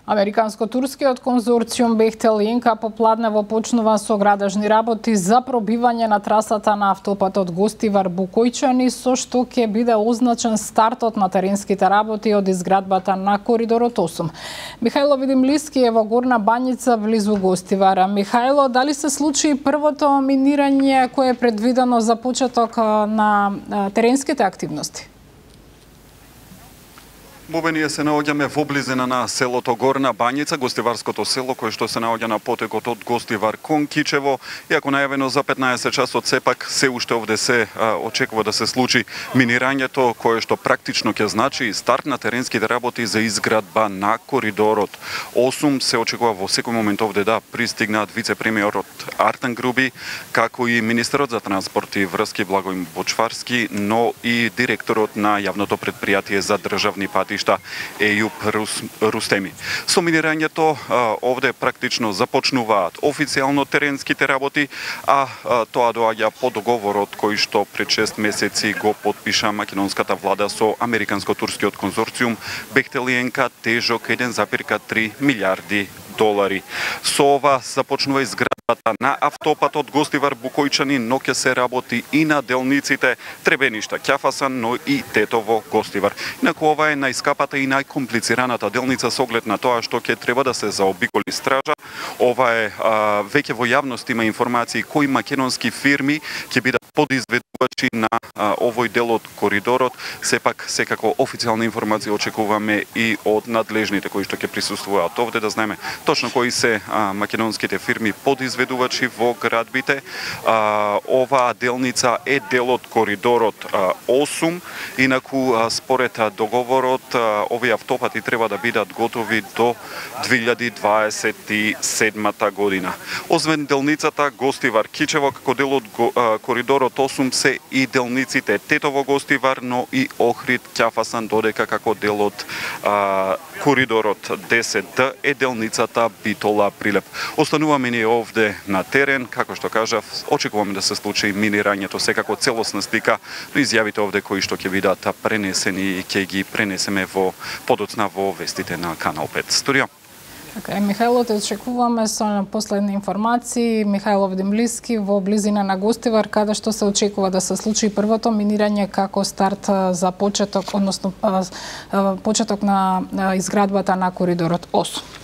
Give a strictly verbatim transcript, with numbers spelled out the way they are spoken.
Американско-турскиот конзорциум Бехтел и Инка попладнево почнува со градежни работи за пробивање на трасата на автопатот Гостивар Букојчани, со што ќе биде означен стартот на теренските работи од изградбата на коридорот осум. Михајло Видимлиски е во Горна Банјица близу Гостивара. Михајло, дали се случи првото минирање кое е предвидено за почеток на теренските активности? Бобе, ние се наоѓаме во близина на селото Горна Банјица, гостиварското село кое што се наоѓа на потекот од Гостивар кон Кичево. Иако најавено за петнаесет часот, сепак се уште овде се а, очекува да се случи минирањето, кое што практично ќе значи старт на теренските работи за изградба на коридорот осум. Се очекува во секој момент овде да пристигнаат вице-премиерот Артан Груби, како и министерот за транспорт и врски Благој Бочварски, но и директорот на јавното предпријатие за државни пати Ејуп Рус, Рустеми. Со минирањето овде практично започнуваат официјално теренските работи, а, а тоа доаѓа по договорот кој што пред шест месеци го потпиша македонската влада со Американско-турскиот конзорциум Бехтел и Инка, тежок еден запирка три милиарди долари. Со ова започнува изградбата на автопатот Гостивар Букојчани, но ќе се работи и на делниците Требеништа Ќафасан, но и Тетово Гостивар. Инаку ова е најскапата и најкомплицираната делница со оглед на тоа што ќе треба да се заобиколи стража. Ова е а, веќе во јавност има информации кои македонски фирми ќе бидат подизведувачи на а, овој дел од коридорот. Сепак секако официјална информација очекуваме и од надлежните кои што ќе присуствуваат овде, да знаеме точно кои се а, македонските фирми подизведувачи во градбите. А, оваа делница е дел од коридорот а, осум. Инаку а, според а, договорот а, овие автопати треба да бидат готови до две илјади дваесет и седма година. Освен делницата Гостивар Кичево како дел од а, коридорот осум се и делниците Тетово Гостивар, но и Охрид Ќафасан, додека како дел од а, коридорот десет Д е делницата Битола Прилеп. Остануваме ние овде на терен, како што кажав, очекуваме да се случи минирањето, секако целосна слика, но изјавите овде кои што ќе бидат пренесени и ќе ги пренесеме во подоцна во вестите на Канал пет. Студио. Okay, Михајло, те очекуваме со последни информации. Михајло Видимлиски во близина на Гостивар, каде што се очекува да се случи првото минирање како старт за почеток, односно почеток на изградбата на коридорот осум.